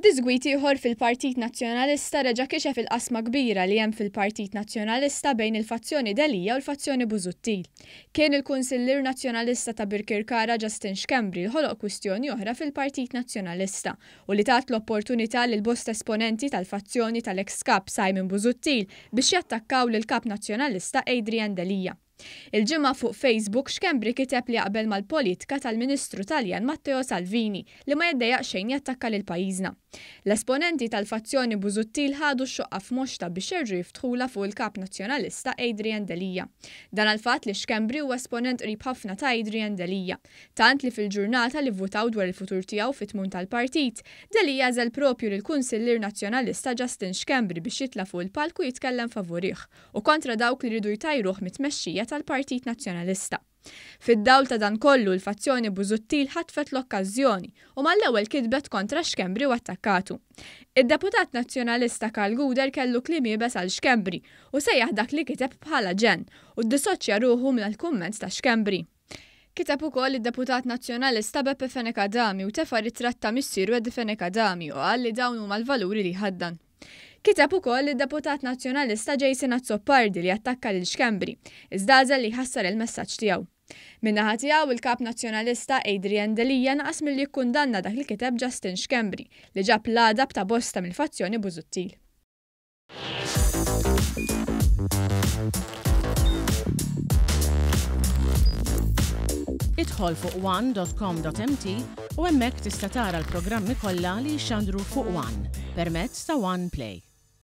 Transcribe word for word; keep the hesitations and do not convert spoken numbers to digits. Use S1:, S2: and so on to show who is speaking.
S1: Diżgwit ieħor fil-Partit Nazzjonalista reġa' kixef il-qasma kbira li hemm fil-Partit Nazzjonalista bejn il-fazzjoni Delia u l-fazzjoni Busuttil. Kien il-Kunsillier Nazzjonalista ta' Birkirkara Justin Schembri li ħoloq kwistjoni oħra fil-Partit Nazzjonalista u li tat l-opportunità lil bosta esponenti tal-fazzjoni tal-ex kap Simon Busuttil biex jattakkaw lil kap Nazzjonalista Adrian Delia. Il-Ġimgħa fuq Facebook Schembri kiteb li jaqbel mal-politika tal-Ministru Taljan Matteo Salvini li ma jiddejjaq xejn jattakka lil pajjiżna. L-esponenti tal-fazzjoni Busuttil ħadu x-xoqqa f'moxta biex jerġgħu jiftħula fuq il-kap Nazzjonalista Adrian Delia. Dan għall-fatt li Schembri huwa esponent qrib ħafna ta' Adrian Delia. Tant li fil-ġurnata li votaw dwar il-futur tiegħu fit-tmun tal-partit, Delia għażel propju lill-Kunsillier Nazzjonalista Justin Schembri biex jitla' fuq il-palku jitkellem favurih u kontra dawk li rridu jtajruh mit-tmexxija tal-Partit Nazzjonalista. Fid-dawl ta' dan kollu l-fazzjoni Busuttil ħatfet l-okkażjoni u mal-ewwel kitbet kontra Schembri u attakkatu. Id-deputat Nazzjonalista Karl Gouder kellu kliem iebes għal Schembri u sejjaħ dak li kiteb bħala ġenn u ddisoċja ruħu mill-kumment ta' Schembri. Kiteb ukoll id-deputat Nazzjonalista Beppe Fenech Adami u tefa' ritratt ta' missieru Eddie Fenech Adami u qal li dawn huma l-valuri li jħaddan. Kiteb ukoll id-deputat Nazzjonalista Jason Azzopardi li attakka lil Schembri, iżda għażel li jħassar il-messaġġ tiegħu. Min-naħa tiegħu il-kap Nazzjonalista Adrian Delia naqas milli jikkundanna dak li kiteb Justin Schembri li ġab l-għadab ta' bosta mill-fazzjoni Busuttil.
S2: Idħol fuq one dot com dot m t u hemmhekk tista' tara l-programmi kollha li jixxandru fuq One permezz ta' One Play.